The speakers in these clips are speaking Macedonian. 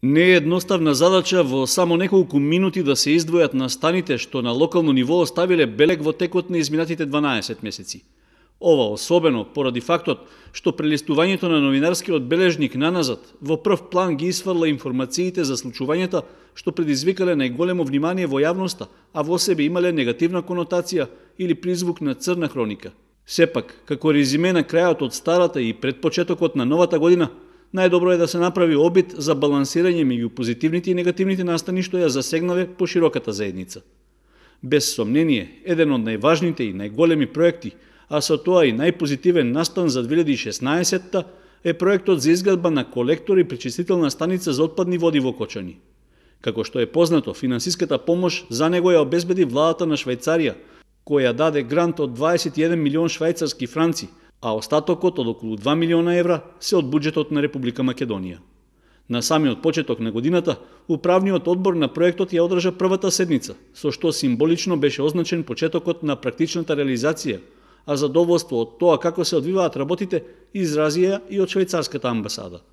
Не е едноставна задача во само неколку минути да се издвојат настаните што на локално ниво оставиле белег во текот на изминатите 12 месеци. Ова особено поради фактот што прелистувањето на новинарскиот бележник наназад во прв план ги исфрла информациите за случувањата што предизвикале најголемо внимание во јавноста, а во себе имале негативна конотација или призвук на црна хроника. Сепак, како резиме на крајот од старата и предпочетокот на новата година, најдобро е да се направи обид за балансирање меѓу позитивните и негативните настани што ја засегнале по широката заедница. Без сомнение, еден од најважните и најголеми проекти, а со тоа и најпозитивен настан за 2016-та е проектот за изградба на колектор и пречистителна станица за отпадни води во Кочани. Како што е познато, финансиската помош за него ја обезбеди владата на Швајцарија, која даде грант од 21 милион швајцарски франци, а остатокот од околу 2 милиона евра се од буџетот на Република Македонија. На самиот почеток на годината, управниот одбор на проектот ја одржа првата седница, со што символично беше означен почетокот на практичната реализација, а задоволство од тоа како се одвиваат работите изразија и од швајцарската амбасада.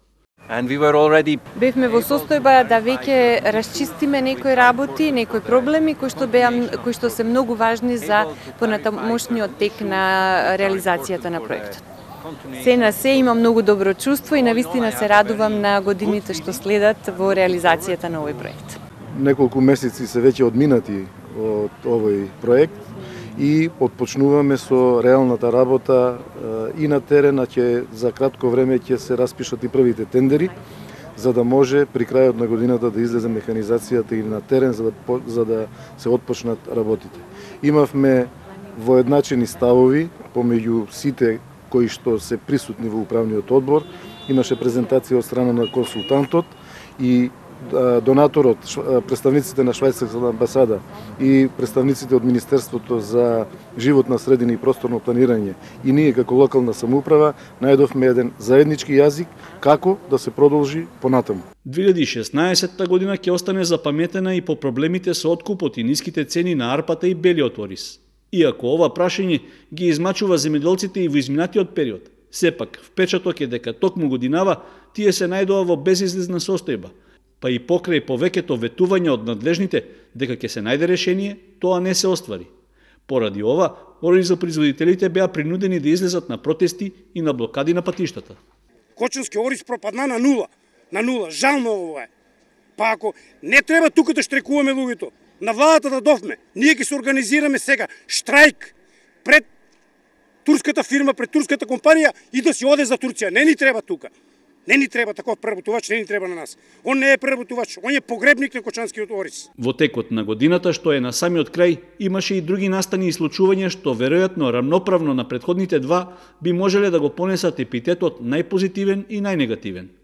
Бевме во состојба да веќе расчистиме некои работи, некои проблеми кои што се многу важни за понатамошниот тек на реализацијата на проектот. Се на се има многу добро чувство и навистина се радувам на годините што следат во реализацијата на овој проект. Неколку месеци се веќе одминати од овој проект и отпочнуваме со реалната работа и на терен, а за кратко време ќе се распишат и првите тендери, за да може при крајот на годината да излезе механизацијата и на терен за да се отпочнат работите. Имавме воедначени ставови помеѓу сите кои што се присутни во управниот одбор. Имаше презентација од страна на консултантот и донаторот, представниците на швајцарската амбасада и представниците од Министерството за животна средина и просторно планирање и ние како локална самоуправа најдовме еден заеднички јазик како да се продолжи понатаму. 2016 година ќе остане запаметена и по проблемите со откупот и ниските цени на арпата и белиот ориз. Иако ова прашање ги измачува земјоделците и во изминатиот период, сепак впечаток е дека токму годинава тие се најдоа во безизлизна состојба, па и покрај повеќето ветувања од надлежните дека ќе се најде решение, тоа не се оствари. Поради ова, оризопроизводителите беа принудени да излезат на протести и на блокади на патиштата. Кочански ориз пропадна на нула, жално ова е. Па ако не треба тука да штрекуваме луѓето, на владата да довме, ние ќе се организираме сега штрајк пред турската фирма, пред турската компанија и да си оде за Турција. Не ни треба тука. Не ни треба таков преработувач, не ни треба на нас. Он не е преработувач, он е погребник на кочанскиот ориз. Во текот на годината, што е на самиот крај, имаше и други настани и случувања што веројатно рамноправно на претходните два би можеле да го понесат епитетот најпозитивен и најнегативен.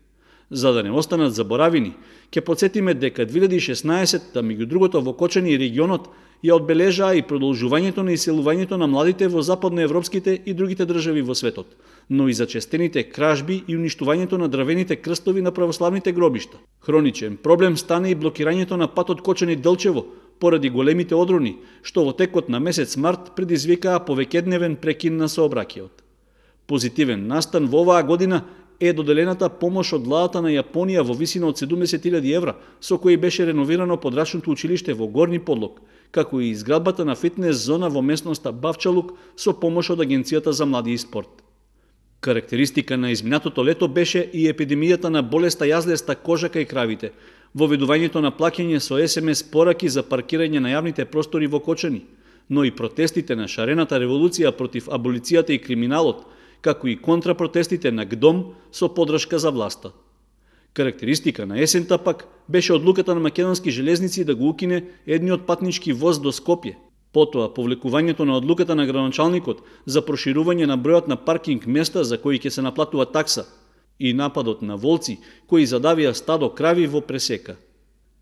За да не останат заборавени, ќе потсетиме дека 2016-та, меѓу другото во Кочани и регионот, ја одбележаа и продолжувањето на иселувањето на младите во западноевропските и другите држави во светот, но и зачестените кражби и уништувањето на дрвените крстови на православните гробишта. Хроничен проблем стане и блокирањето на патот Кочани-Делчево поради големите одрони, што во текот на месец март предизвикаа повеќедневен прекин на сообраќајот. Позитивен настан во оваа година е доделената помош од владата на Јапонија во висина од 70.000 евра, со кои беше реновирано подрачното училиште во Горни Подлог, како и изградбата на фитнес зона во местноста Бавчалук со помош од Агенцијата за млади и спорт. Карактеристика на изминатото лето беше и епидемијата на болеста јазлеста кожа кај кравите, воведувањето на плаќање со СМС пораки за паркирање на јавните простори во Кочани, но и протестите на шарената револуција против аболицијата и криминалот, како и контрапротестите на ГДОМ со подршка за власта. Карактеристика на есента пак беше одлуката на Македонски железници да го укине едниот патнички воз до Скопје. Потоа повлекувањето на одлуката на градоначалникот за проширување на бројот на паркинг места за кои ќе се наплатува такса и нападот на волци кои задавија стадо крави во пресека.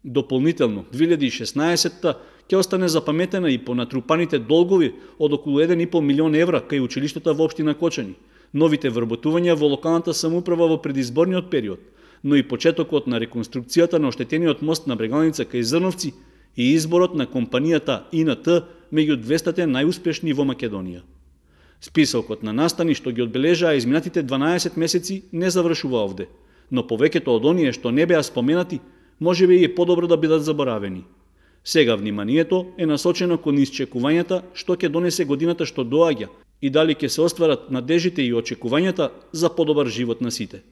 Дополнително, 2016-та ќе остане запаметена и по натрупаните долгови од околу 1,5 милион евра кај училиштата во општина Кочани, новите вработувања во локалната самоуправа во предизборниот период, но и почетокот на реконструкцијата на оштетениот мост на Брегалница кај Зрновци и изборот на компанијата ИНТ меѓу 200 најуспешни во Македонија. Списокот на настани што ги одбележаа изминатите 12 месеци не завршува овде, но повеќето од оние што не беа споменати можеби е подобро да бидат заборавени. Сега вниманието е насочено кон исчекувањата што ќе донесе годината што доаѓа и дали ќе се остварат надежите и очекувањата за подобар живот на сите.